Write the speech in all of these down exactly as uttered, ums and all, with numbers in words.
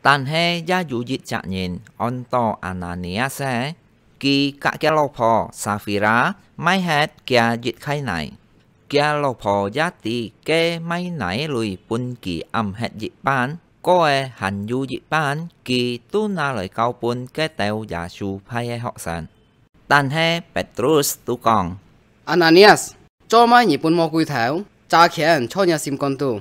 但係也有一隻人安到Ananias，佢佮厥老婆Safira賣忒厥一垤泥。厥老婆也知該賣泥鐳分佢暗忒一半，過个還有一半，佢都拿來交分該兜耶穌派个學生。但係Petrus都講：「Ananias，做麼你分魔鬼頭，詐權在若心肝肚？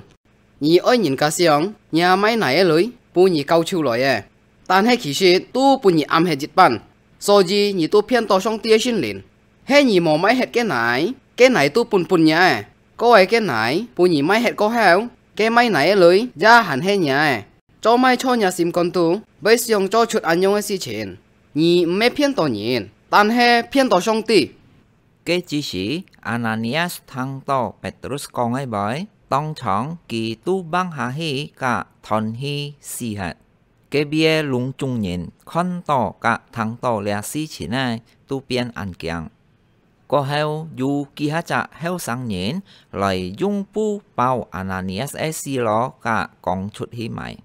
你愛人家想，若賣泥个鐳，分你交出來个，但係其實都分你暗忒一半，所以你都騙到上帝个聖靈。係你無賣忒該泥，該泥都分分若个，過个該泥分你賣忒過後，該賣泥个鐳也還係若个。做麼在若心肝肚會想做出恁樣个事情？你毋係騙到人，但係騙到上帝。」該之時，Ananias聽到Petrus講个話，當場佢都橫下去佮斷氣死忒。該位个攏總人看到佮聽到這事情个，都變恁驚。過後，有幾下隻後生人來用布包Ananias个屍體佮扛出去埋。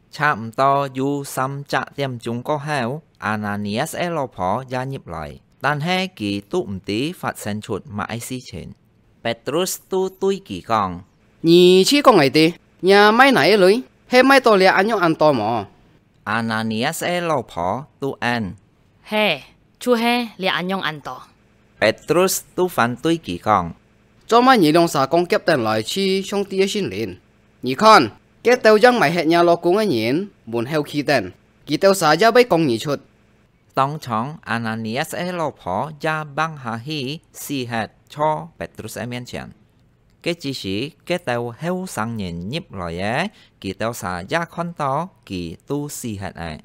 差毋多有三隻點鐘過後，Ananias个老婆也入來，但係佢都毋知發生出麼个事情。Petrus都對佢講：「你自講來知，若賣泥个鐳，係賣到這恁樣恁多無？」Ananias个老婆都應：「係，就係這恁樣恁多。」Petrus都反對佢講：「做麼你兩儕講合等來去上帝个聖靈？你看，該兜正賣忒若老公个人門口企等，佢兜儕也會講你出。」當場Ananias个老婆也橫下去死忒在Petrus个面前。該之時，該兜後生人入來个，佢兜儕也看到，佢都死忒了。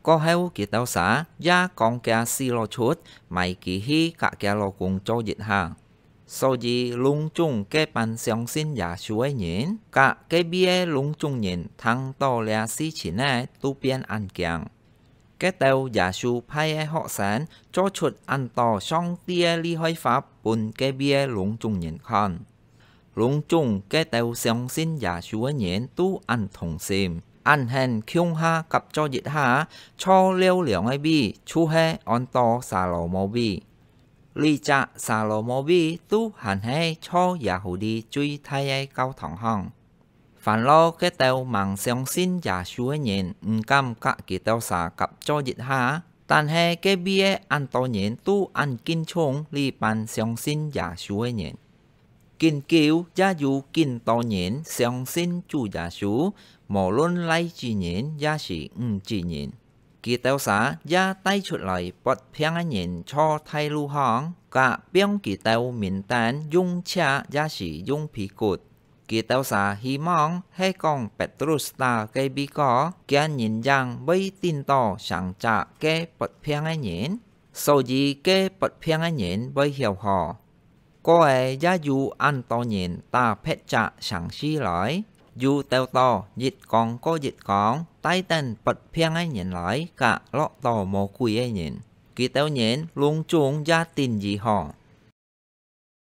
過後佢兜儕也扛厥屍體出，埋佢去佮厥老公做一下。所以攏總該班相信耶穌个人，佮該位个攏總人聽到這事情个，都變恁驚。該兜耶穌派个學生做出恁多上帝个厲害法分該位个攏總人看。攏總該兜相信耶穌个人都恁同心，恁肯共下合作一下，造了兩个位，就係安到撒羅摩位。這隻撒羅摩位都還係造耶和華最大个教堂項。 煩惱該兜吂相信耶穌个人毋敢佮佢兜儕合作一下，但係該位个恁多人都恁敬重這班相信耶穌个人。今久也有盡多人相信主耶穌，無論倈仔人也係女仔人。 佢兜儕也帶出來發病个人在大路項，佮放佢兜面頂用尺也係用被骨。佢兜儕希望係講Petrus打該位哥，厥人影會頂到成隻該發病个人，所以該發病个人會曉好。 過仔也有恁多人打別隻城市來，又鬥到一扛過一扛，帶等發病个人來佮落到魔鬼个人，佢兜人攏總也頂醫好。